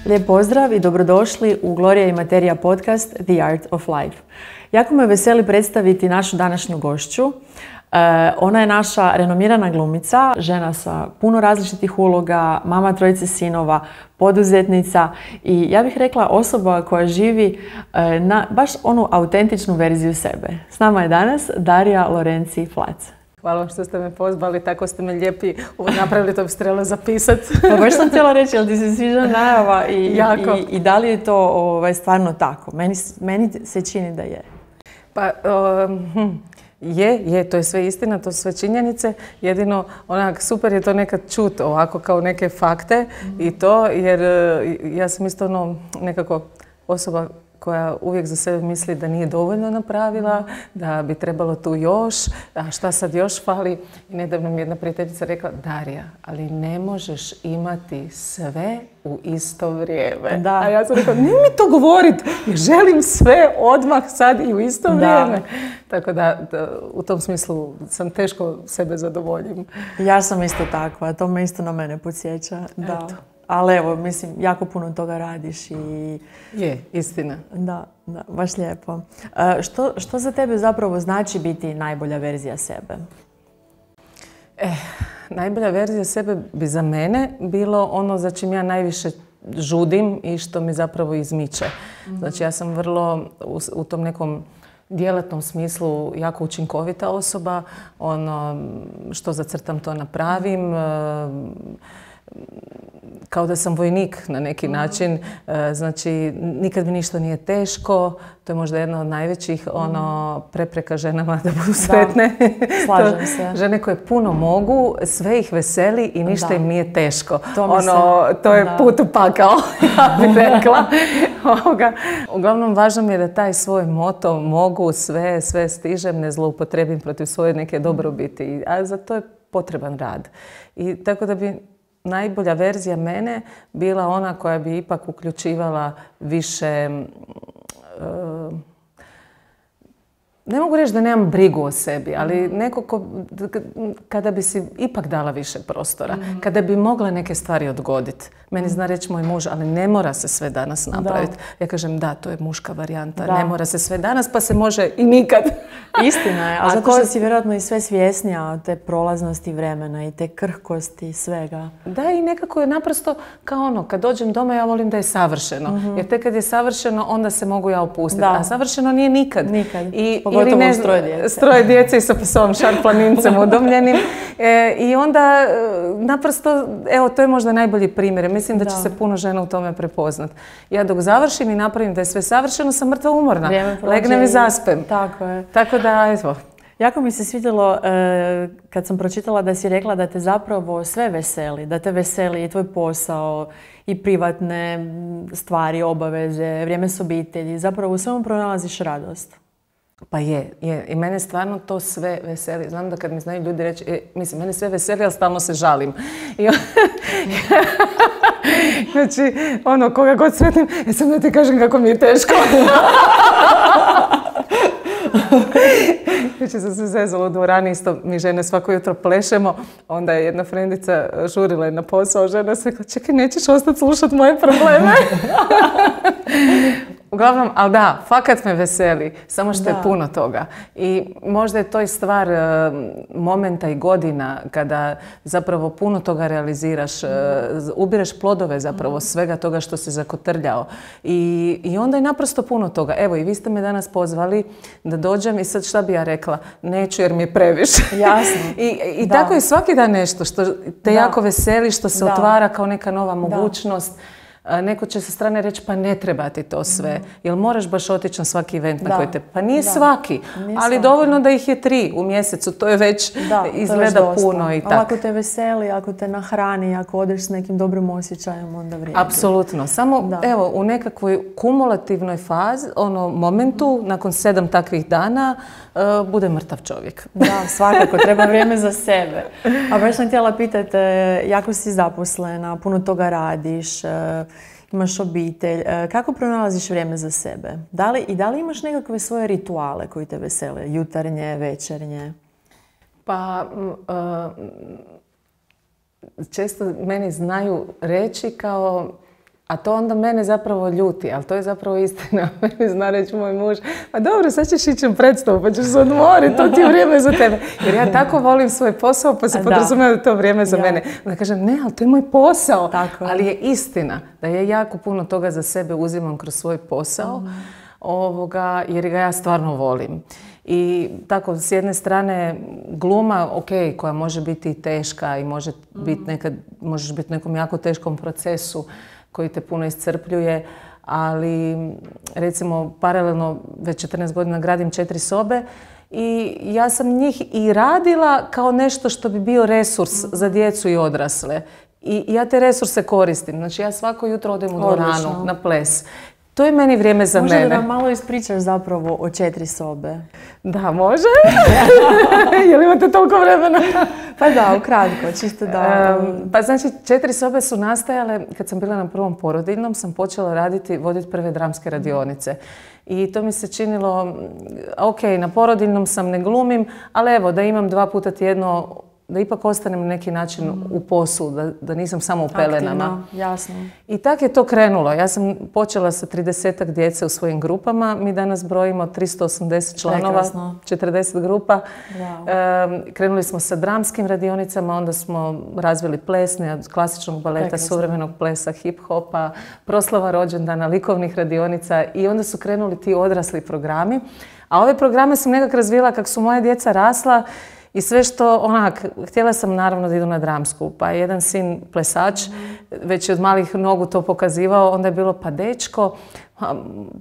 Lijep pozdrav i dobrodošli u Gloria i Materija podcast The Art of Life. Jako me veseli predstaviti našu današnju gošću. Ona je naša renomirana glumica, žena sa puno različitih uloga, mama trojice sinova, poduzetnica i ja bih rekla osoba koja živi na baš onu autentičnu verziju sebe. S nama je danas Darija Lorenci Flac. Hvala vam što ste me pozvali, tako ste me lijepi napravili, to bi se trebalo zapisati. Pa baš sam htjela reći, ali ti se sviđa najava i da li je to stvarno tako? Meni se čini da je. Pa, je, to je sve istina, to su sve činjenice. Jedino, onak, super je to nekad čut ovako kao neke fakte i to, jer ja sam isto nekako osoba koja uvijek za sebe misli da nije dovoljno napravila, da bi trebalo tu još, a šta sad još fali. I nedavno mi jedna prijateljica rekla, Darija, ali ne možeš imati sve u isto vrijeme. Da. A ja sam rekla, ne mi to govoriti, jer želim sve odmah sad i u isto vrijeme. Tako da u tom smislu sam teško sebe zadovoljim. Ja sam isto takva, to me isto na mene podsjeća. Da. Eto. Ali evo, mislim, jako puno toga radiš i... Je, istina. Da, baš lijepo. Što za tebe zapravo znači biti najbolja verzija sebe? Najbolja verzija sebe bi za mene bilo ono za čim ja najviše žudim i što mi zapravo izmiče. Znači, ja sam vrlo u tom nekom djelatnom smislu jako učinkovita osoba. Ono što zacrtam, to napravim. Kao da sam vojnik na neki način, znači nikad mi ništa nije teško, to je možda jedna od najvećih prepreka ženama da budu sretne. Slažem se. Žene koje puno mogu, sve ih veseli i ništa im nije teško. To je put u pakao, ja bih rekla. Uglavnom, važno mi je da taj svoj moto mogu, sve stižem, ne zloupotrebim protiv svoje neke dobrobiti, a za to je potreban rad. I tako da bi najbolja verzija mene bila ona koja bi ipak uključivala više, ne mogu reći da nemam brigu o sebi, ali neko kada bi si ipak dala više prostora, kada bi mogla neke stvari odgoditi. Meni zna reći moj muž, ali ne mora se sve danas napraviti. Ja kažem, da, to je muška varijanta, ne mora se sve danas, pa se može i nikad. Istina je, a zato što si vjerojatno i sve svjesnija od te prolaznosti vremena i te krhkosti svega. Da, i nekako je naprosto kao kad dođem doma ja volim da je savršeno. Jer tek kad je savršeno, onda se mogu ja opustiti. A savršeno nije nikad. Nikad. Pogotovo s troje djece. S troje djece i sa psom šarplanincem udomljenim. I onda naprosto, evo, to je možda najbolji primjer. Mislim da će se puno žena u tome prepoznat. Ja dok završim i napravim da je sve savršeno, sam mrtva umorna. Legnem i zaspem. Tako je. Tako da, evo. Jako mi se svidjelo kad sam pročitala da si rekla da te zapravo sve veseli. Da te veseli i tvoj posao i privatne stvari, obaveze, vrijeme s obitelji. Zapravo u svemu pronalaziš radost. Pa je. I mene stvarno to sve veseli. Znam da kad mi znaju ljudi reći, mislim, mene sve veseli, ali stalno se žalim. Znači, koga god sretnim, sam da ti kažem kako mi je teško. Jučer sam se zezala u dvorani, isto mi žene svako jutro plešemo. Onda je jedna frendica žurila na posao, žena se rekla, čekaj, nećeš ostati slušati moje probleme? Uglavnom, ali da, fakat me veseli, samo što je puno toga. I možda je to i stvar momenta i godina kada zapravo puno toga realiziraš, ubireš plodove zapravo svega toga što si zakotrljao. I onda je naprosto puno toga. Evo, i vi ste me danas pozvali da dođem i sad šta bi ja rekla? Neću jer mi je previše. Jasno. I tako je svaki dan nešto što te jako veseli, što se otvara kao neka nova mogućnost. Neko će sa strane reći, pa ne treba ti to sve. Jel moraš baš otići na svaki event na koji te... Pa nije svaki, ali dovoljno da ih je 3 u mjesecu. To je već izgleda puno i tako. Ali ako te veseli, ako te nahrani, ako odeš s nekim dobrim osjećajem, onda vrijedi. Apsolutno. Samo evo, u nekakvoj kumulativnoj fazi, momentu, nakon 7 takvih dana, bude mrtav čovjek. Da, svakako. Treba vrijeme za sebe. A baš sam htjela pitati, jako si zaposlena, puno toga radiš, imaš obitelj. Kako pronalaziš vrijeme za sebe? Da li imaš nekakve svoje rituale koji te vesele? Jutarnje, večernje? Pa, često meni znaju reći kao A to onda mene zapravo ljuti, ali to je zapravo istina. Meni zna reći moj muž, pa dobro, sad ćeš ići u predstavu, pa ćeš se odmoriti, to ti je vrijeme za tebe. Jer ja tako volim svoj posao, pa se podrazumijeva da je to vrijeme za mene. Onda kažem, ne, ali to je moj posao. Tako. Ali je istina da ja jako puno toga za sebe uzimam kroz svoj posao, jer ga ja stvarno volim. I tako, s jedne strane, gluma, koja može biti teška i možeš biti u nekom jako teškom procesu koji te puno iscrpljuje, ali recimo paralelno već 14 godina gradim 4 sobe i ja sam njih i radila kao nešto što bi bio resurs za djecu i odrasle. I ja te resurse koristim. Znači ja svako jutro odem u dvoranu na ples. To je meni vrijeme za mene. Može da nam malo ispričaš zapravo o 4 sobe? Da, može. Jel imate toliko vremena? Pa da, ukratko, čisto da... Pa znači, 4 sobe su nastajale, kad sam bila na prvom porodiljnom, sam počela voditi prve dramske radionice. I to mi se činilo, na porodiljnom sam, ne glumim, ali evo, da imam 2 puta tjedno, da ipak ostanem na neki način u poslu, da nisam samo u pelenama. Aktivno, jasno. I tako je to krenulo. Ja sam počela sa 30-ak djece u svojim grupama. Mi danas brojimo 380 članova, 40 grupa. Wow. Krenuli smo sa dramskim radionicama, onda smo razvili plesne, od klasičnog baleta, suvremenog plesa, hip-hopa, proslava rođendana, likovnih radionica i onda su krenuli ti odrasli programi. A ove programe sam nekako razvila kako su moja djeca rasla. I sve što, htjela sam naravno da idu na dramsku, pa je jedan sin plesač, već je od malih nogu to pokazivao, onda je bilo pa dečko,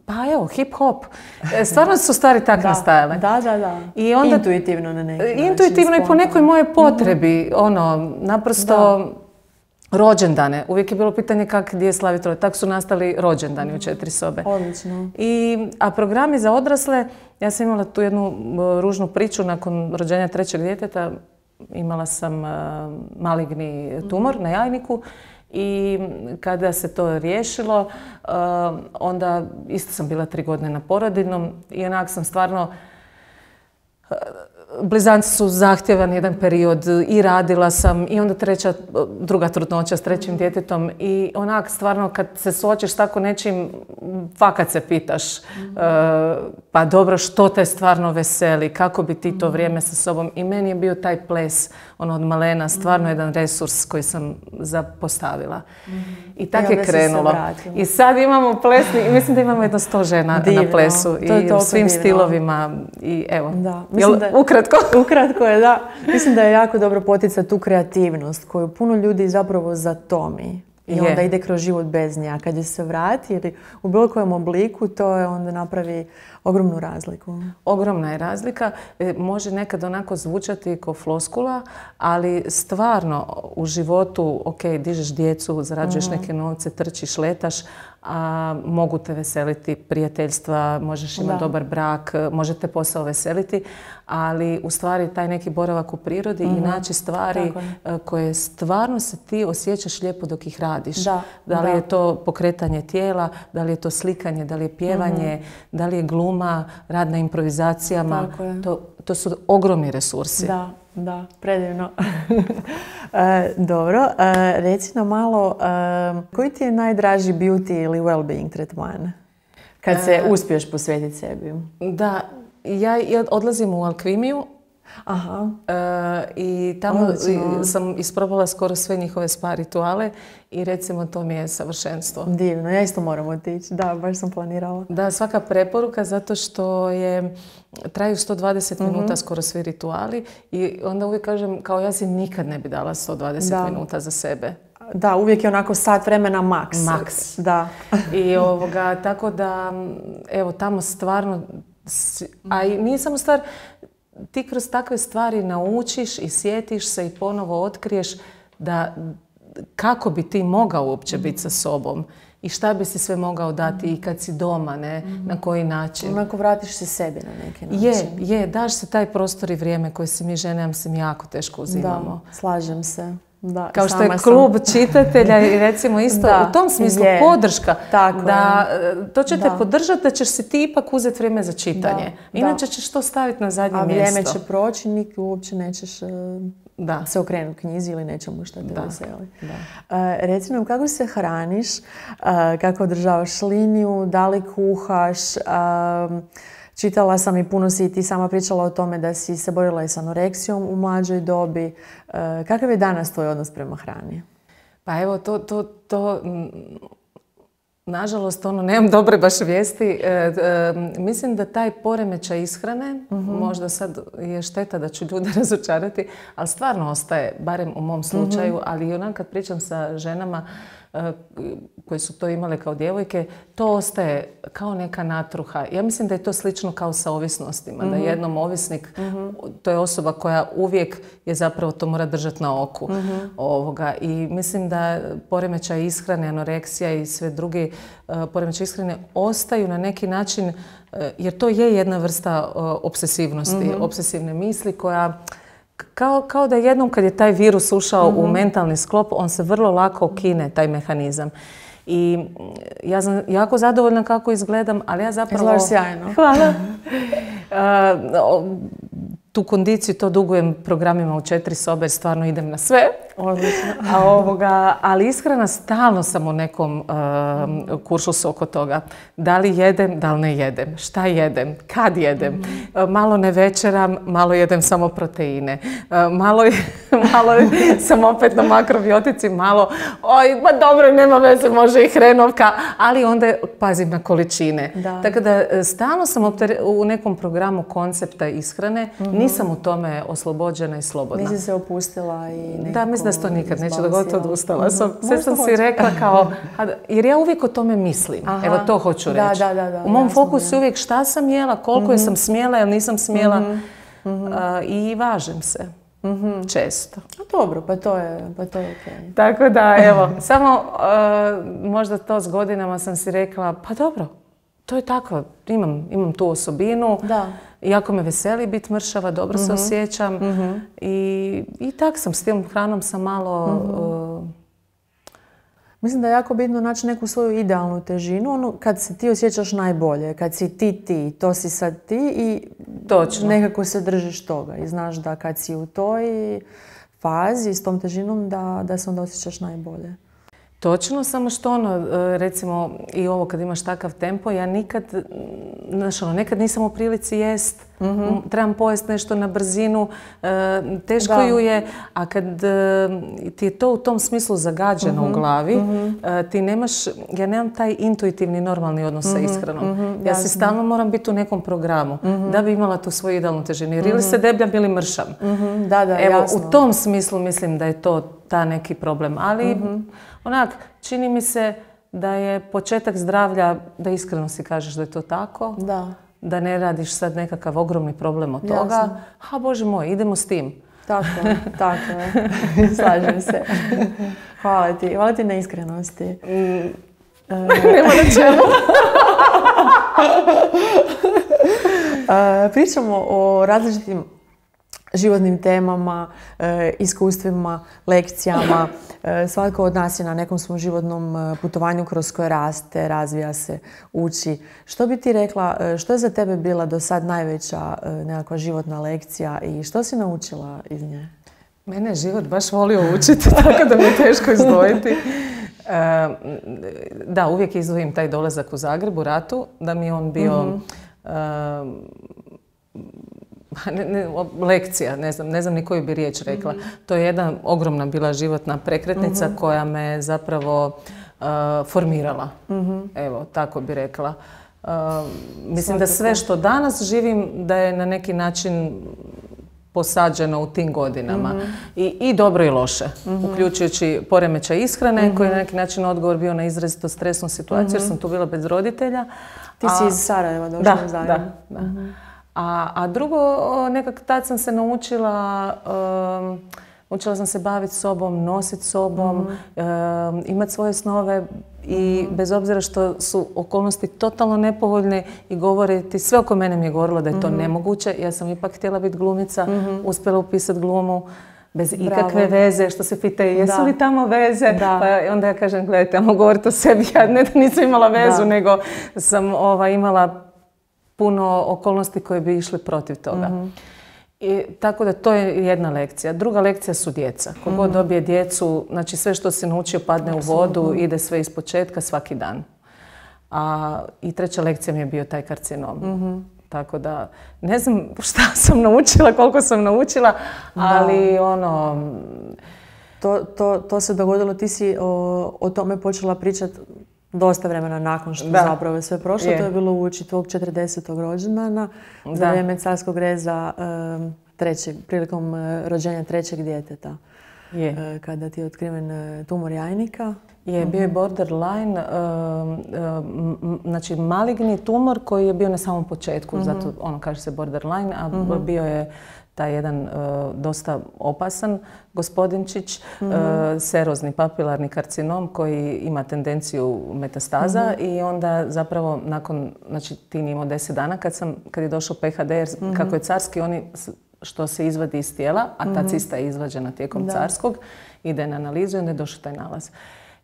pa evo, hip-hop. Stvarno su stvari tak nastajale. Da. I onda, intuitivno na neki način. Intuitivno i po nekoj mojoj potrebi, naprosto rođendane. Uvijek je bilo pitanje gdje slaviti rođendane. Tako su nastali rođendani u 4 sobe. Odlično. A programi za odrasle, ja sam imala tu jednu ružnu priču nakon rođenja 3. djeteta. Imala sam maligni tumor na jajniku i kada se to riješilo, onda isto sam bila 3 godine na porodiljnom i onak sam stvarno... Blizanci su zahtjevan jedan period i radila sam i onda druga trudnoća s 3. djetetom i onak stvarno kad se suočiš s tako nečim, fakat se pitaš pa dobro što te stvarno veseli, kako bi ti to vrijeme sa sobom i meni je bio taj ples od malena stvarno jedan resurs koji sam zapostavila. I tako je krenulo. I sad imamo plesni i mislim da imamo jedno 100 žena na plesu i u svim stilovima i evo. Ukratko je, da. Mislim da je jako dobro poticati tu kreativnost koju puno ljudi zapravo zatomi. I onda ide kroz život bez nje. A kad je se vrati ili u bilo kojem obliku, to je onda napravi ogromnu razliku. Ogromna je razlika. Može nekad onako zvučati kao floskula, ali stvarno u životu, dižeš djecu, zarađuješ neke novce, trčiš, letaš, a mogu te veseliti prijateljstva, možeš imati dobar brak, može te posao veseliti, ali u stvari taj neki boravak u prirodi i naći stvari koje stvarno se ti osjećaš lijepo dok ih radiš. Da li je to pokretanje tijela, da li je to slikanje, da li je pjevanje, da li je gluma, rad na improvizacijama. To su ogromni resursi. Da, predivno. Dobro, reci nam malo, koji ti je najdraži beauty ili well-being tretman? Kad se uspiješ posvetiti sebi. Da, ja odlazim u alkvimiju. I tamo sam isprobala skoro sve njihove spa rituale i recimo to mi je savršenstvo. Divno, ja isto moram otići. Da, baš sam planirala. Da, svaka preporuka zato što traju 120 minuta skoro svi rituali i onda uvijek kažem kao ja si nikad ne bi dala 120 minuta za sebe. Da, uvijek je onako sat vremena maks. Da. I tako da, evo, tamo stvarno, a i nije samo stvar, ti kroz takve stvari naučiš i sjetiš se i ponovo otkriješ da kako bi ti mogao uopće biti sa sobom i šta bi si sve mogao dati i kad si doma, na koji način. Onako vratiš se sebi na neki način. Daš se taj prostor i vrijeme koje si mi žene, ja mislim, jako teško uzimamo. Da, slažem se. Da, kao što je klub čitatelja i recimo isto u tom smislu podrška. To će te podržati da ćeš si ti ipak uzeti vrijeme za čitanje. Inače ćeš to staviti na zadnje mjesto. A vrijeme će proći, uopće nećeš se okrenuti knjizi ili nečemu što te veseli. Reci nam, kako se hraniš, kako održavaš liniju, da li kuhaš? Čitala sam i puno si i ti sama pričala o tome da si se borila i s anoreksijom u mlađoj dobi. Kakav je danas tvoj odnos prema hrani? Pa evo, to nažalost, nemam dobre baš vijesti. Mislim da taj poremećaj ishrane, možda sad je šteta da ću ljude razočarati, ali stvarno ostaje, barem u mom slučaju, ali i onak kad pričam sa ženama koje su to imale kao djevojke, to ostaje kao neka natruha. Ja mislim da je to slično kao sa ovisnostima. Da jednom ovisnik, to je osoba koja uvijek je zapravo to mora držati na oku. I mislim da poremećaj ishrane, anoreksija i sve drugi poremećaj ishrane ostaju na neki način, jer to je jedna vrsta obsesivnosti, obsesivne misli koja kao da jednom kad je taj virus ušao u mentalni sklop, on se vrlo lako okine, taj mehanizam. I ja sam jako zadovoljna kako izgledam, ali ja zapravo... Izgledaš sjajno. Hvala. Tu kondiciju to dugujem programima u 4 sobe, jer stvarno idem na sve. Odlično. Ali ishrana, stalno sam u nekom kuršusu oko toga. Da li jedem, da li ne jedem, šta jedem, kad jedem. Malo ne večeram, malo jedem samo proteine. Malo sam opet na makrobiotici, malo, ma dobro, nema veze, može i hrenovka, ali onda pazim na količine. Tako da stalno sam u nekom programu koncepta ishrane, nisam u tome oslobođena i slobodna. Nisi se opustila i nekako... Da, mislim da se to nikad neće dogoditi, odustala sam. Sve sam si rekla kao... Jer ja uvijek o tome mislim. Evo, to hoću reći. U mom fokusu je uvijek šta sam jela, koliko je sam smjela ili nisam smjela. I važem se. Često. Dobro, pa to je okej. Tako da, evo, samo možda to s godinama sam si rekla, pa dobro, to je tako, imam tu osobinu. Jako me veseli biti mršava, dobro se osjećam. I tak sam, s tim hranom sam malo... Mislim da je jako bitno naći neku svoju idealnu težinu, kad se ti osjećaš najbolje, kad si ti, to si sad ti i nekako se držiš toga. I znaš da kad si u toj fazi s tom težinom da se onda osjećaš najbolje. Točno, samo što recimo i ovo kad imaš takav tempo, ja nikad nisam u prilici jest, trebam pojesti nešto na brzinu, teško ju je, a kad ti je to u tom smislu zagađeno u glavi, ti nemaš, ja nemam taj intuitivni normalni odnos sa ishranom. Ja si stalno moram biti u nekom programu da bi imala tu svoju idealnu težinu, jer ili se debljam ili mršam. Evo, u tom smislu mislim da je to ta neki problem, ali čini mi se da je početak zdravlja, da iskreno si kažeš da je to tako, da ne radiš sad nekakav ogromni problem od toga. Bože moj, idemo s tim. Tako je. Slažem se. Hvala ti na iskrenosti. Nema na čemu. Pričamo o različitim životnim temama, iskustvima, lekcijama. Svatko od nas je na nekom svom životnom putovanju kroz koje raste, razvija se, uči. Što bi ti rekla, što je za tebe bila do sad najveća nekakva životna lekcija i što si naučila iz nje? Mene je život baš volio učiti, tako da mi je teško izdvojiti. Da, uvijek izdvojim taj dolazak u Zagreb u ratu, da mi je on bio... lekcija, ne znam ni koju bi riječ rekla. To je jedna ogromna bila životna prekretnica koja me zapravo formirala. Evo, tako bi rekla. Mislim da sve što danas živim da je na neki način posađeno u tim godinama. I dobro i loše. Uključujući poremećaj ishrane koji je na neki način odgovor bio na izrazito stresnu situaciju jer sam tu bila bez roditelja. Ti si iz Sarajeva došla u Zagreb. Da. A drugo, nekako tad sam se naučila sam se baviti sobom, nositi sobom, imati svoje snove i bez obzira što su okolnosti totalno nepovoljne i govoriti, sve oko mene mi je govorilo da je to nemoguće. Ja sam ipak htjela biti glumica, uspjela upisati glumu bez ikakve veze, što se pita jesu li tamo veze, pa onda ja kažem gledajte, ajmo govoriti o sebi, ja ne da nisam imala vezu, nego sam imala puno okolnosti koje bi išli protiv toga. Tako da to je jedna lekcija. Druga lekcija su djeca. Kogod dobije djecu, znači sve što se naučio padne u vodu, ide sve iz početka svaki dan. I treća lekcija mi je bio taj karcinom. Tako da, ne znam šta sam naučila, koliko sam naučila, ali To se dogodilo, ti si o tome počela pričati dosta vremena nakon što zapravo je sve prošlo. To je bilo uoči tvog 40. rođendana za vrijeme carskog reza prilikom rođenja trećeg djeteta. Kada ti je otkriven tumor jajnika. Bio je borderline, znači maligni tumor koji je bio na samom početku, zato kaže se borderline, a bio je taj jedan dosta opasan gospodinčić, serozni papilarni karcinom koji ima tendenciju metastaza i onda zapravo nakon, znači tin imao 10 dana kad je došao PHD, kako je carski, oni što se izvadi iz tijela, a ta cista je izvađena tijekom carskog, ide na analizu i onda je došao taj nalaz.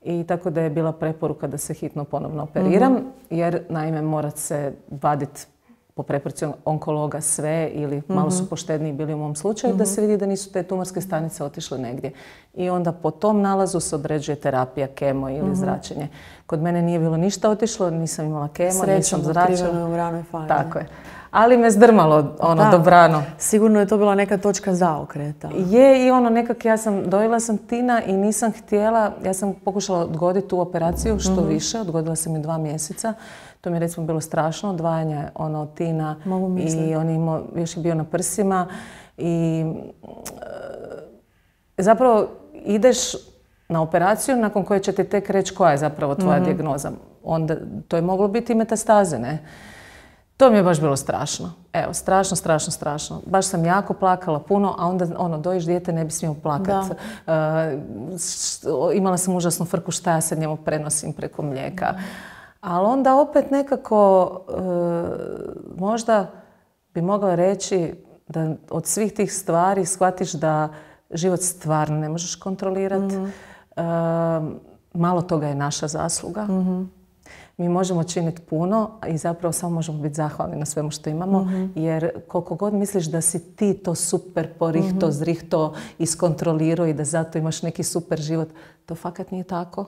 I tako da je bila preporuka da se hitno ponovno operiram, jer naime mora se vaditi po preporuci onkologa sve ili malo su poštedniji bili u mom slučaju da se vidi da nisu te tumorske stanice otišle negdje. I onda po tom nalazu se određuje terapija, kemo ili zračenje. Kod mene nije bilo ništa otišlo, nisam imala kemo, nisam zračila. U ranoj fazi. Tako je. Ali me zdrmalo dobrano. Sigurno je to bila neka točka zaokreta. Je, i nekak dojela sam tina i nisam htjela, ja sam pokušala odgoditi tu operaciju što više, odgodila sam je 2 mjeseca. To mi je recimo bilo strašno, odvajanje tina i on još je bio na prsima i zapravo ideš na operaciju nakon koje će ti tek reći koja je zapravo tvoja dijagnoza. Onda to je moglo biti i metastaze, ne? To mi je baš bilo strašno. Evo, strašno. Baš sam jako plakala puno, a onda dojiš dijete, ne bi smio plakati. Imala sam užasnu frku šta ja sad njemu prenosim preko mlijeka. Ali onda opet nekako možda bi mogla reći da od svih tih stvari shvatiš da život stvarno ne možeš kontrolirati. Malo toga je naša zasluga. Mi možemo činiti puno i zapravo samo možemo biti zahvalni na svemu što imamo, jer koliko god misliš da si ti to super porihto, zrihto, iskontrolirao i da zato imaš neki super život, to fakat nije tako.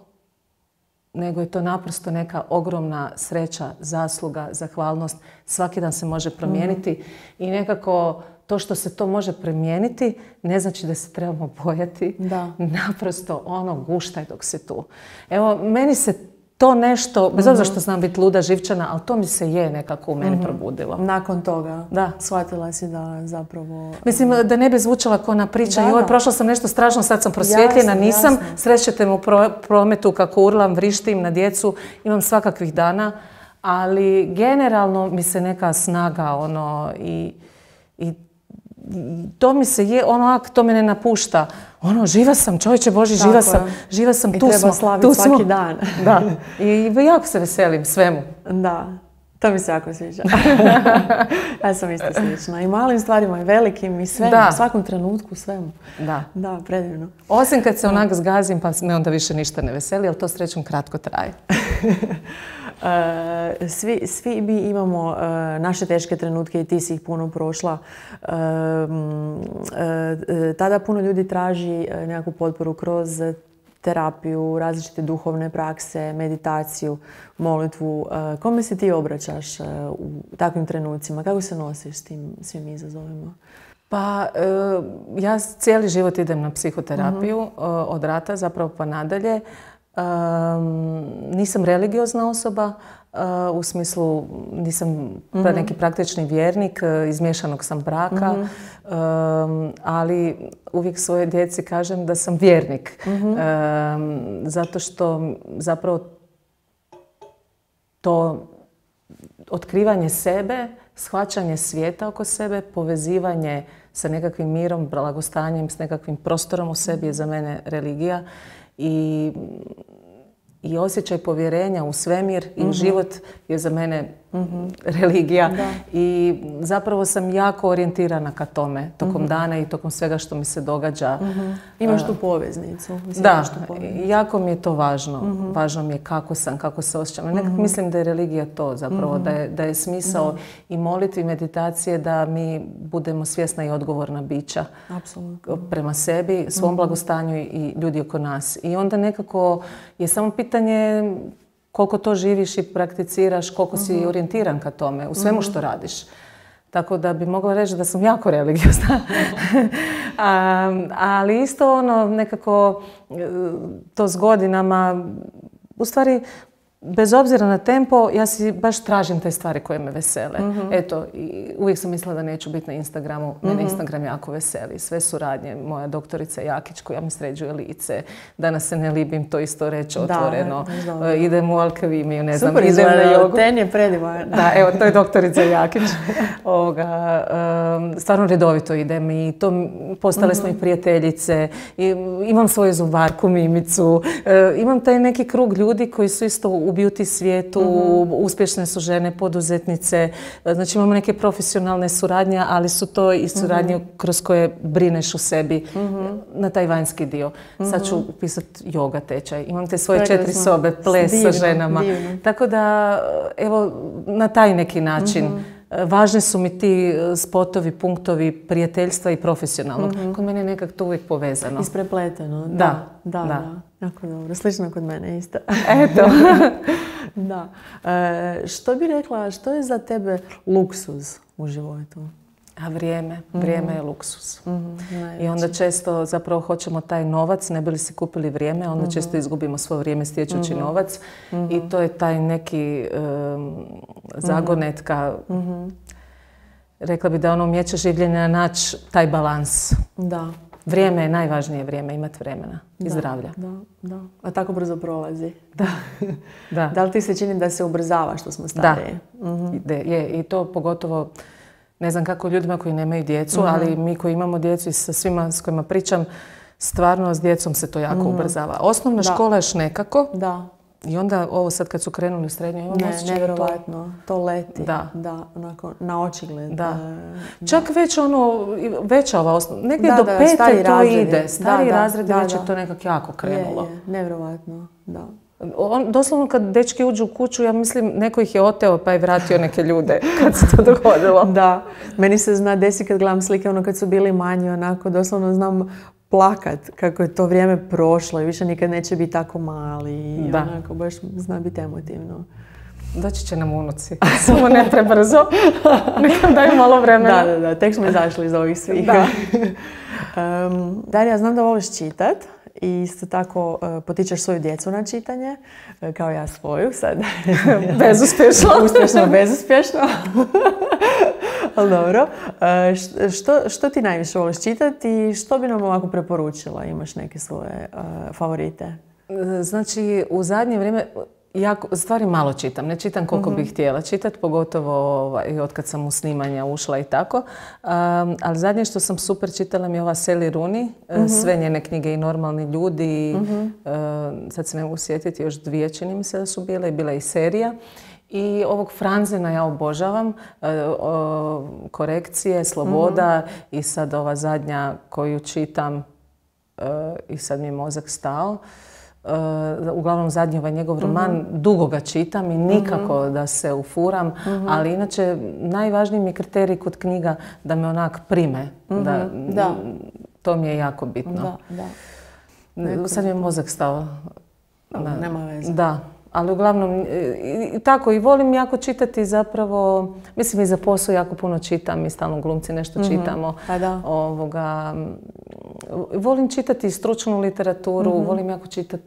Nego je to naprosto neka ogromna sreća, zasluga, zahvalnost. Svaki dan se može promijeniti i nekako to što se to može promijeniti ne znači da se trebamo bojati. Naprosto guštaj dok si tu. Evo, meni se to nešto, bez obzira što znam biti luda, živčana, ali to mi se je nekako u meni probudilo. Nakon toga shvatila si da zapravo... Mislim, da ne bi zvučala ko ona priča, joj, prošla sam nešto strašno, sad sam prosvjetljena, nisam. Srećete me u prometu kako urlam, vrištim na djecu, imam svakakvih dana, ali generalno mi se neka snaga i to mi se je, to me ne napušta. Živa sam, čovječe Boži, živa sam, tu smo. I treba slaviti svaki dan. Da, i jako se veselim svemu. Da, to mi se jako sviđa. Ja sam isto slična. I malim stvarima, i velikim, i svemu, u svakom trenutku, svemu. Da, predivno. Osim kad se onak zgazim, pa me onda više ništa ne veseli, ali to srećom kratko traje. Svi mi imamo naše teške trenutke i ti si ih puno prošla. Tada puno ljudi traži nekakvu potporu kroz terapiju, različite duhovne prakse, meditaciju, molitvu. Kome se ti obraćaš u takvim trenucima? Kako se nosiš s tim svim izazovima? Pa ja cijeli život idem na psihoterapiju od rata zapravo pa nadalje. Nisam religiozna osoba, u smislu nisam neki praktični vjernik, iz miješanog sam braka, ali uvijek svojoj djeci kažem da sam vjernik. Zato što zapravo to otkrivanje sebe, shvaćanje svijeta oko sebe, povezivanje sa nekakvim mirom, blagostanjem, s nekakvim prostorom u sebi je za mene religija. I i osjećaj povjerenja u svemir i u život je za mene religija. I zapravo sam jako orijentirana ka tome tokom dana i tokom svega što mi se događa. Imaš tu poveznicu. Da, jako mi je to važno. Važno mi je kako sam, kako se osjećam. Nekako mislim da je religija to zapravo, da je smisao i molitvi i meditacije da mi budemo svjesna i odgovorna bića. Apsolutno. Prema sebi, svom blagostanju i ljudi oko nas. I onda nekako je samo pitanje koliko to živiš i prakticiraš, koliko si orijentiran ka tome, u svemu što radiš. Tako da bi mogla reći da sam jako religiozna. Ali isto nekako to s godinama, u stvari, bez obzira na tempo, ja si baš tražim te stvari koje me vesele. Eto, uvijek sam mislila da neću biti na Instagramu. Mene Instagram jako veseli. Sve suradnje. Moja doktorica Jakić koja mi sređuje lice. Danas se ne libim to isto reći otvoreno. Idem u alkemiju, ne znam. Super izgleda, ten je predivan. Da, evo, to je doktorica Jakić. Stvarno redovito idem i to postale smo i prijateljice. Imam svoju zubarku, Mimicu. Imam taj neki krug ljudi koji su isto u beauty svijetu, uspješne su žene, poduzetnice. Znači imamo neke profesionalne suradnje, ali su to i suradnje kroz koje brineš u sebi na taj vanjski dio. Sad ću upisati yoga tečaj. Imam te svoje 4 sobe, ples sa ženama. Divno. Tako da, evo, na taj neki način. Važni su mi ti spotovi, punktovi prijateljstva i profesionalnog. Kod mene je nekako to uvijek povezano. Isprepleteno. Da. Jako dobro. Slično kod mene isto. Eto. Da. Što bi rekla, što je za tebe luksuz u životu? A vrijeme. Vrijeme je luksuz. I onda često zapravo hoćemo taj novac, ne bi li si kupili vrijeme, onda često izgubimo svoje vrijeme stječući novac. I to je taj neki zagonetka. Rekla bi da umijeće življenja naći taj balans. Da. Vrijeme je najvažnije vrijeme, imati vremena i zdravlja. Da. A tako brzo prolazi. Da. Da li ti se čini da se ubrzava što smo stariji? Da. Je. I to pogotovo, ne znam kako ljudima koji nemaju djecu, ali mi koji imamo djecu i sa svima s kojima pričam, stvarno s djecom se to jako ubrzava. Osnovna škola još nekako. Da. I onda ovo sad kad su krenuli u srednju, nevjerovatno. To leti. Da. Onako, na očigled. Da. Čak već veća ova osnova. Negdje do 5. to ide. Stari razredi već je to nekako jako krenulo. Je. Nevjerovatno. Da. Doslovno kad dečki uđu u kuću, ja mislim neko ih je oteo pa je vratio neke ljude kad se to dogodilo. Da. Meni se zna desi kad gledam slike kad su bili manji, onako doslovno znam plakat kako je to vrijeme prošlo i više nikad neće biti tako mali. I onako baš zna biti emotivno. Doći će nam unuci. Samo ne prebrzo. Nekam daju malo vremena. Da. Tek smo izašli iz ovih svih. Darija, znam da voliš čitat. I isto tako potičeš svoju djecu na čitanje, kao ja svoju sad. Bezuspješno. Uspješno, bezuspješno. Ali dobro. Što ti najviše voliš čitati i što bi nam ovako preporučila? Imaš neke svoje favorite? Znači, u zadnje vrijeme stvari malo čitam. Ne čitam koliko bih htjela čitati, pogotovo od kad sam u snimanja ušla i tako. Ali zadnje što sam super čitala mi je ova Sally Rooney. Sve njene knjige i Normalni ljudi. Sad se ne mogu sjetiti, još 2 čini mi se da su bile. I bila je i serija. I ovog Franzena ja obožavam. Korekcije, Sloboda i sad ova zadnja koju čitam i sad mi je mozak stao. Uglavnom zadnji ovaj njegov roman, dugo ga čitam i nikako da se ufuram, ali inače najvažniji mi je kriterij kod knjiga da me onak prime. To mi je jako bitno. Sad mi je mozak stao. Nema veze. Da. Ali uglavnom, tako i volim jako čitati zapravo, mislim i za posao jako puno čitam i stalno glumci nešto čitamo. Volim čitati stručnu literaturu, volim jako čitati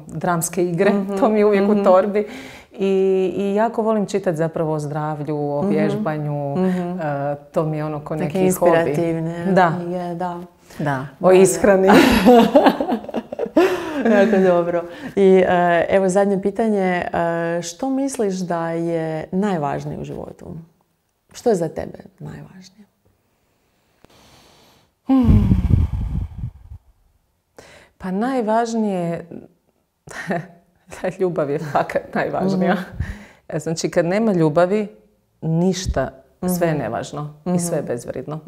dramske igre, to mi je uvijek u torbi. I jako volim čitati zapravo o zdravlju, o vježbanju, to mi je ko neki hobi. Inspirativne. Da. O ishrani. Jako dobro. I evo zadnje pitanje. Što misliš da je najvažnije u životu? Što je za tebe najvažnije? Pa najvažnije Ljubav je fakat najvažnija. Znači, kad nema ljubavi, ništa, sve je nevažno i sve je bezvrijedno.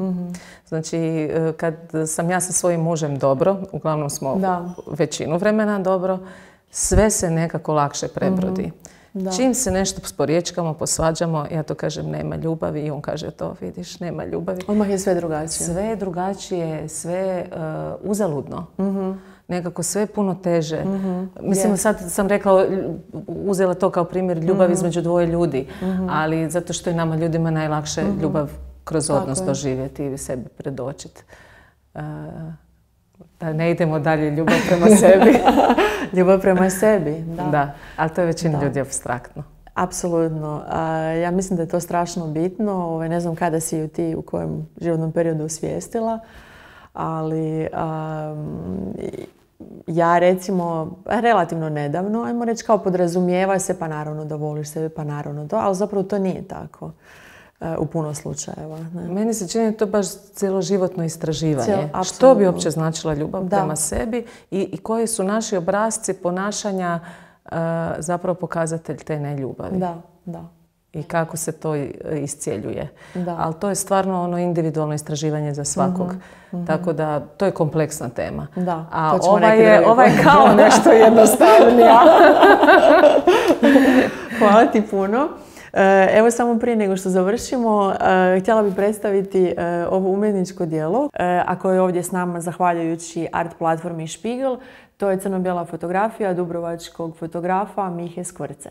Znači, kad sam ja sa svojim mužem dobro, uglavnom smo većinu vremena dobro, sve se nekako lakše prebrodi. Čim se nešto sporječkamo, posvađamo, ja to kažem nema ljubavi i on kaže to, vidiš, nema ljubavi. Odmah je sve drugačije. Sve je drugačije, sve je uzaludno. Nekako sve je puno teže. Mislim, sad sam rekla, uzela to kao primjer ljubav između dvoje ljudi, ali zato što je nama ljudima najlakše ljubav kroz odnos doživjeti i sebi predočiti. Da ne idemo dalje, ljubav prema sebi. Ljubav prema sebi, da. Da, ali to je većina ljudi apstraktno. Apsolutno. Ja mislim da je to strašno bitno. Ne znam kada si ju ti u kojem životnom periodu osvijestila, ali ja recimo relativno nedavno, ajmo reći kao podrazumijeva se, pa naravno da voliš sebe, pa naravno to, ali zapravo to nije tako u puno slučajeva. Ne? Meni se čini to baš cjeloživotno istraživanje. Što bi uopće značila ljubav prema sebi i koji su naši obrasci ponašanja zapravo pokazatelj te neljubavi. Da. I kako se to iscjeljuje. Ali to je stvarno ono individualno istraživanje za svakog. Tako da to je kompleksna tema. A ova je kao nešto jednostavnija. Hvala ti puno. Evo samo prije nego što završimo, htjela bih predstaviti ovo umjetničko djelo, a koje je ovdje s nama zahvaljujući art platformi Špigel. To je crno-bijela fotografija dubrovačkog fotografa Mihe Skvrce.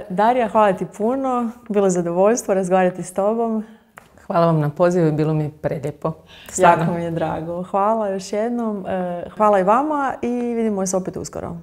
Darija, hvala ti puno. Bilo je zadovoljstvo razgovarati s tobom. Hvala vam na pozivu i bilo mi je prelijepo. Jako mi je drago. Hvala još jednom. Hvala i vama i vidimo se opet uskoro.